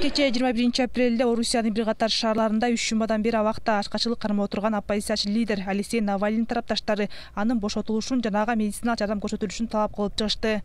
Кечээ 21 апрелде Орусиянын бир катар шаарларында 3 жумадан бери абакта ачкачылык кармап отурган оппозициячы лидер Алексей Навальный тарапташтары анын бошотулушун жана ага медициналык жардам көрсөтүлүшүн талап кылып чыгышты.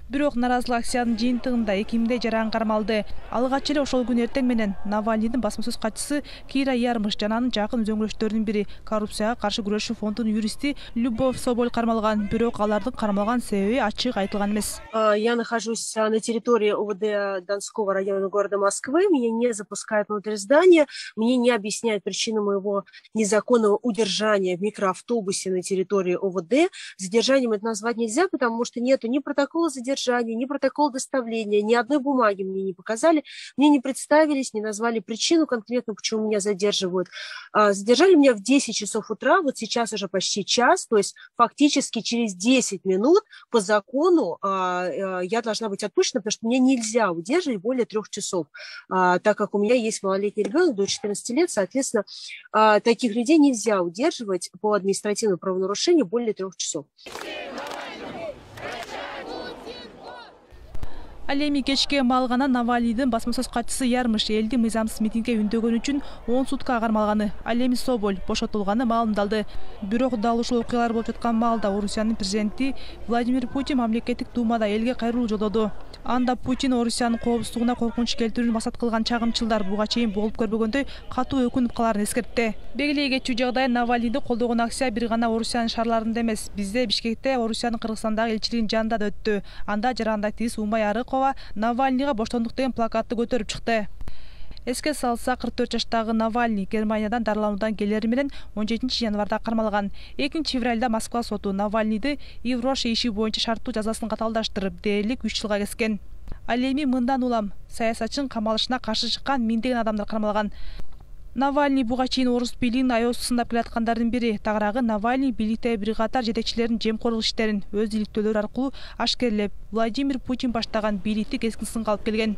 Бирок наразылык акциянын жыйынтыгында 2000 жаран кармалды. Алгач эле ошол күн эртең менен Навальныйдын басма сөз катчысы Кира Ярмыш жана анын жакын үзөңгүлөштөрүнүн бири коррупцияга каршы күрөшүү фондунун юристи Любовь Соболь кармалган. Бирок алардын кармалган себеби ачык айтылган эмес. Я нахожусь на территории ОВД Донского района города Москвы. Меня не запускают внутрь здания. Мне не объясняют причину моего незаконного удержания в микроавтобусе на территории ОВД. Задержанием это назвать нельзя, потому что нету ни протокола задержания, ни протокол доставления, ни одной бумаги мне не показали, мне не представились, не назвали причину конкретно, почему меня задерживают. Задержали меня в 10 часов утра, вот сейчас уже почти час, то есть фактически через 10 минут по закону я должна быть отпущена, потому что мне нельзя удерживать более 3 часов, так как у меня есть малолетний ребенок до 14 лет, соответственно, таких людей нельзя удерживать по административному правонарушению более 3 часов. Ал эми кечке маал гана Навальныйдын басма сөз катчысы Ярмыш элди мыйзамсыз митингге үндөгөн үчүн 10 суткага кармалганы. Ал эми Соболь бошотулганы маалымдалды. Бирок дал ушул окуялар болуп жаткан маалда Орусиянын президенти Владимир Путин мамлекеттик думада элге кайрылуу жолдоду. Анда Путин Орусиянын коопсуздугуна коркунуч келтирүүнү максат кылган чагымчылдар буга чейин болуп көрбөгөндөй катуу өкүнүп каларын эскертти. Белгилей кетчү жагдай Навальныйды колдогон акция бир гана Орусиянын шаарларында эмес, бизде Бишкекте Орусиянын Кыргызстандагы элчилигинин жанында да өттү. Анда жарандай тиз Умай Арыкова Навальныйга боштондук деген плакатты көтөрүп чыкты. Эске салсак, 44 жаштагы Навальный Германиядан дарылануудан келери менен 17 январда кармалган. 2 февралда Москва соту Навальныйды Евроша иши боюнча шарттуу жазасын каталдаштырып, дээрлик 3 жылга кескен. Ал эми мындан улам саясатчынын камалышына каршы чыккан миңдеген адамдар кармалган. Навальный буга чейин орус бийлигинин аяосун сындап келаткандардын бири. Тагыраагы Навальный бийликтеги бир катар жетекчилердин жемкорлук иштерин өз иликтөөлөрү аркылуу ашкерлеп, Владимир Путин баштаган бийликти кескин сынга алып келген.